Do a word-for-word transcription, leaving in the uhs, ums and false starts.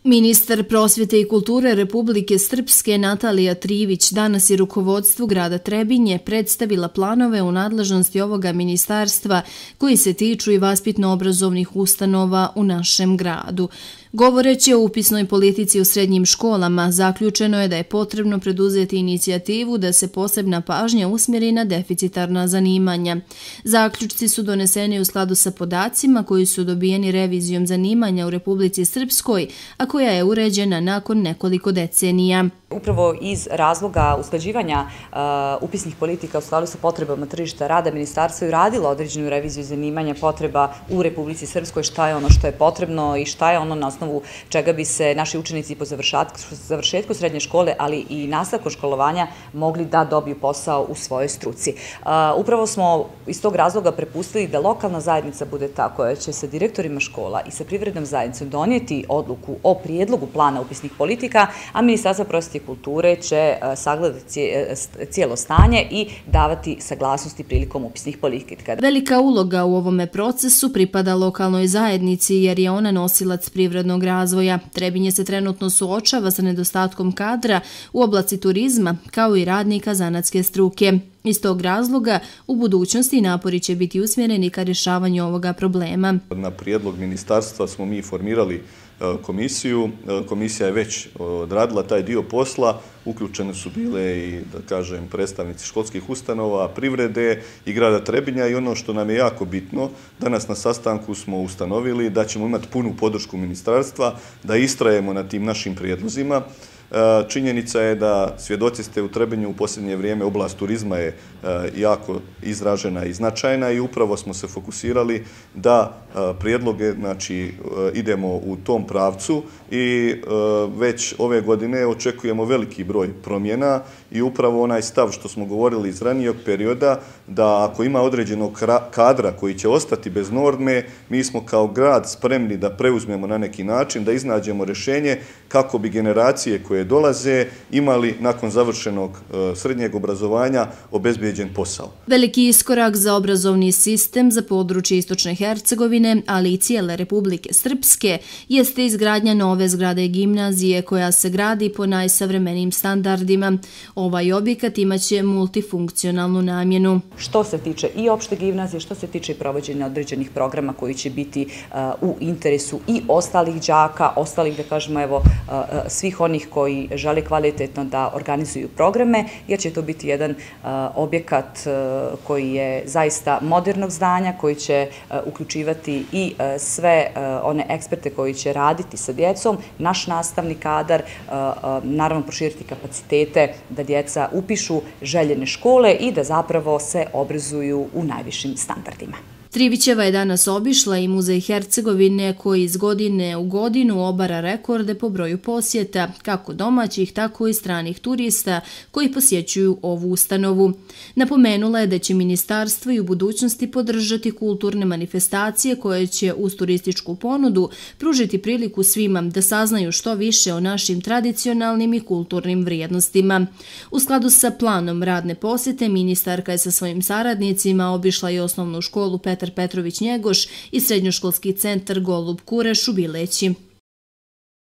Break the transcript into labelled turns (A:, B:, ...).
A: Ministar prosvjete i kulture Republike Srpske Natalija Trivić danas je rukovodstvu grada Trebinje predstavila planove u nadležnosti ovoga ministarstva koji se tiču i vaspitno-obrazovnih ustanova u našem gradu. Govoreći o upisnoj politici u srednjim školama, zaključeno je da je potrebno preduzeti inicijativu da se posebna pažnja usmjeri na deficitarna zanimanja. Zaključci su doneseni u skladu sa podacima koji su dobijeni revizijom zanimanja u Republici Srpskoj, a koja je uređena nakon nekoliko decenija.
B: Upravo iz razloga usklađivanja uh, upisnih politika u skladu sa potrebama tržišta rada, ministarstvo je radilo određenu reviziju zanimanja potreba u Republici Srpskoj, šta je ono što je potrebno i šta je ono na osnovu čega bi se naši učenici po završetku srednje škole, ali i nastavku školovanja mogli da dobiju posao u svojoj struci. Uh, upravo smo iz tog razloga prepustili da lokalna zajednica bude ta koja će sa direktorima škola i sa privrednom zajednicom donijeti odluku o prijedlogu plana upisnih politika, a Ministarstvo prosvjete i kulture će sagledati cijelo stanje i davati saglasnosti prilikom upisnih politika.
A: Velika uloga u ovome procesu pripada lokalnoj zajednici jer je ona nosilac privrednog razvoja. Trebinje se trenutno suočava sa nedostatkom kadra u oblasti turizma kao i radnika zanatske struke. Iz tog razloga u budućnosti napori će biti usmjereni ka rješavanju ovoga problema.
C: Na prijedlog ministarstva smo mi formirali komisiju. Komisija je već odradila taj dio posla. Uključene su bile i, da kažem, predstavnici školskih ustanova, privrede i grada Trebinja i ono što nam je jako bitno, danas na sastanku smo ustanovili da ćemo imati punu podršku ministarstva, da istrajemo na tim našim prijedlozima. Činjenica je da svjedoci ste u Trebinju u posljednje vrijeme oblast turizma je jako izražena i značajna i upravo smo se fokusirali da prijedloge, znači idemo u tom pravcu i već ove godine očekujemo veliki broj promjena i upravo onaj stav što smo govorili iz ranijeg perioda da ako ima određenog kadra koji će ostati bez norme, mi smo kao grad spremni da preuzmemo na neki način, da iznađemo rješenje kako bi generacije koje dolaze imali nakon završenog srednjeg obrazovanja obezbijeđen posao.
A: Veliki iskorak za obrazovni sistem za područje Istočne Hercegovine, ali i cijele Republike Srpske, jeste izgradnja nove zgrade gimnazije koja se gradi po najsavremenijim standardima. Ovaj objekat imaće multifunkcionalnu namjenu.
B: Što se tiče i opšte gimnazije, što se tiče provođenja određenih programa koji će biti u interesu i ostalih đaka, ostalih, da kažemo, evo, svih onih koji žele kvalitetno da organizuju programe, jer će to biti jedan objekat koji je zaista modernog zdanja, koji će uključivati i sve one eksperte koji će raditi sa djecom, naš nastavni kadar, naravno proširiti kapacitete da djeca upišu željene škole i da zapravo se obrazuju u najvišim standardima.
A: Trivićeva je danas obišla i Muzej Hercegovine koji iz godine u godinu obara rekorde po broju posjeta, kako domaćih, tako i stranih turista koji posjećuju ovu ustanovu. Napomenula je da će ministarstvo i u budućnosti podržati kulturne manifestacije koje će uz turističku ponudu pružiti priliku svima da saznaju što više o našim tradicionalnim i kulturnim vrijednostima. U skladu sa planom radne posjete, ministarka je sa svojim saradnicima obišla i osnovnu školu Petar Petrović Njegoš i srednjoškolski centar Golub Kureš u Bileći.